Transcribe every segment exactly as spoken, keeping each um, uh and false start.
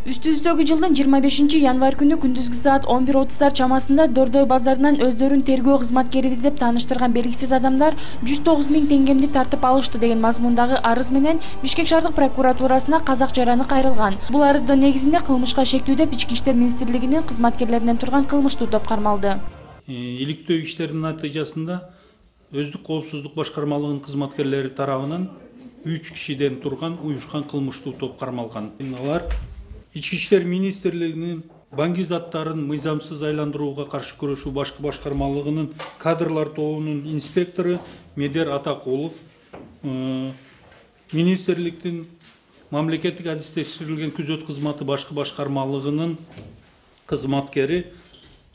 Үстүбүздөгү жылдын жыйырма бешинчи январь күнү күндүзгү саат он бир отуздар чамасында Дордой базарынан өздөрүн тергөө кызматкерибиз деп тааныштырган белгисиз адамдар жүз тогуз миң теңгемди тартып алышты деген мазмундагы арыз менен Бишкек шаардык прокуратурасына казак жараны кайрылган. Бул арыздын негизинде кылмышка шектүү деп Ички иштер министрлигинин кызматкерлеринен турган кылмыштуу топ кармалды. Иликтөө иштеринин натыйжасында өздүк коопсуздук башкармалыгынын кызматкерлери тарабынан үч кишиден турган уюшкан кылмыштуу топ кармалган. Алар Ички иштер министрлигинин банги заттарын мыйзамсыз айландырууга каршы күрөшүү башкы башкармалыгынын кадрлар тобунун инспектору Медер Атакулов, министрликтин мамлекеттик адистештирилген күзөт кызматы башкы башкармалыгынын кызматкери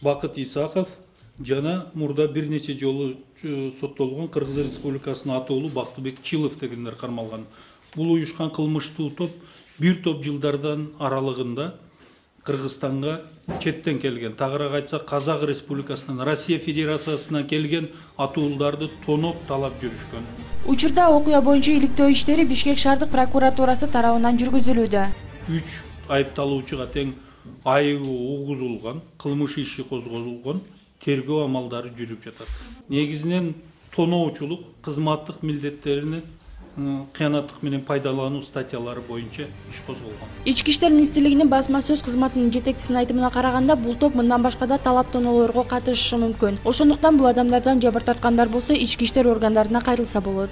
Бакыт Исаков жана мурда бир нече жолу соттолгон Кыргыз Республикасынын атоолу Бактыбек Чилов дегендер кармалган. Бул уюшкан кылмыштуу топ бир топ жылдардан аралыгында Кыргызстанга четтен келген, тагыраак айтсак Казак Республикасынан, Россия Федерациясынан келген атуулдарды тоноп талап жүрүшкөн. Учурда окуя боюнча иликтөө иштери Бишкек шаардык прокуратурасы тарабынан жүргүзүлүүдө. үч айыпталуучуга тең айыбы угузулган, кылмыш иши козголгон, тергөө амалдары жүрүп жатат. Негизинен тоноочулук, кызматтык милдеттерини кыянаттык менен пайдалануу статьялары боюнча иш козголгон. Ички иштер министрлигинин басма сөз кызматынын жетекчисинин айтымына караганда, бул топ мындан башка да талап тоноолорго катышышы мүмкүн. Ошондуктан бул адамдардан жабыр тарткандар болсо ички иштер органдарына кайрылса болот.